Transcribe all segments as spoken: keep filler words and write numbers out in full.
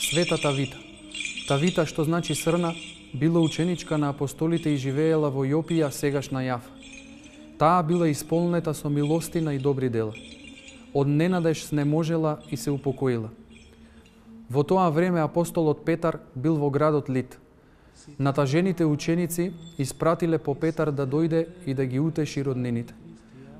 Света Тавита. Тавита, што значи срна, била ученичка на апостолите и живеела во Јопија, сегашна Јафа. Таа била исполнета со милостина и добри дела. Од ненадеж снеможела и се упокоила. Во тоа време апостолот Петар бил во градот Лид. Натажените ученици испратиле по Петар да дојде и да ги утеши роднините.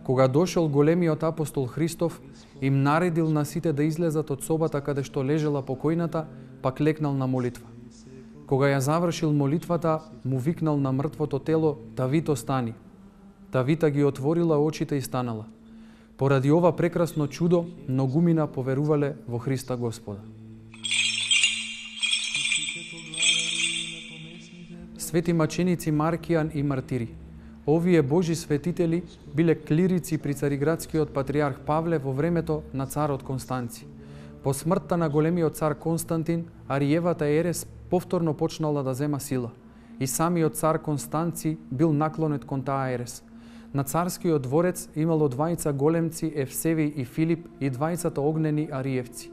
Кога дошол големиот апостол Христов, им наредил на сите да излезат од собата каде што лежела покојната, па клекнал на молитва. Кога ја завршил молитвата, му викнал на мртвото тело: "Тавито, стани." Тавита ги отворила очите и станала. Поради ова прекрасно чудо, многумина поверувале во Христа Господа. Свети маченици Маркијан и Мартири. Овие Божи светители биле клирици при цариградскиот патриарх Павле во времето на царот Констанци. По смртта на големиот цар Константин, Ариевата ерес повторно почнала да зема сила. И самиот цар Констанци бил наклонет кон таа ерес. На царскиот дворец имало двајца големци Евсевиј и Филип и двајцата огнени Ариевци.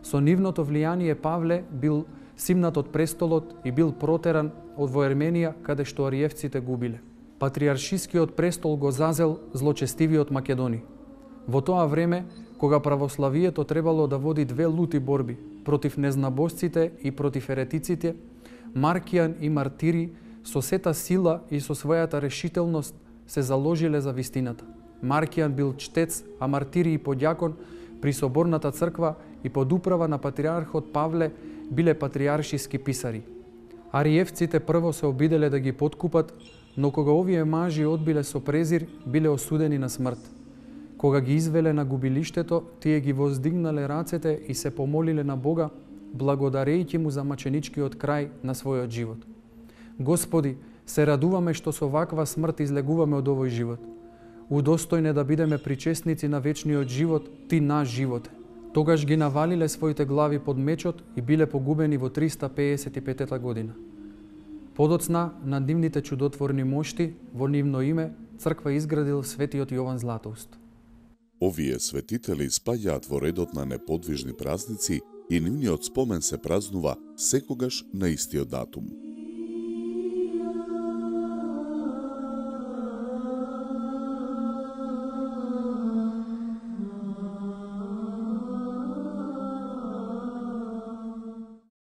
Со нивното влијание Павле бил симнат од престолот и бил протеран од во Ерменија, каде што Ариевците губиле. Патриаршискиот престол го зазел злочестивиот Македони. Во тоа време, кога православието требало да води две лути борби против незнабожците и против еретиците, Маркијан и Мартири со сета сила и со својата решителност се заложиле за вистината. Маркијан бил чтец, а Мартири и подјакон при соборната црква и под управа на патриархот Павле биле патриаршиски писари. Ариевците прво се обиделе да ги подкупат, но кога овие мажи одбиле со презир, биле осудени на смрт. Кога ги извеле на губилиштето, тие ги воздигнале рацете и се помолиле на Бога, благодарејќи му за маченичкиот крај на својот живот. Господи, се радуваме што со ваква смрт излегуваме од овој живот. Удостојне да бидеме причесници на вечниот живот, ти наш живот. Тогаш ги навалиле своите глави под мечот и биле погубени во триста пеесет и петта година. Подоцна на нивните чудотворни мошти, во нивно име, црква изградил светиот Јован Златоуст. Овие светители спаѓаат во редот на неподвижни празници и нивниот спомен се празнува секогаш на истиот датум.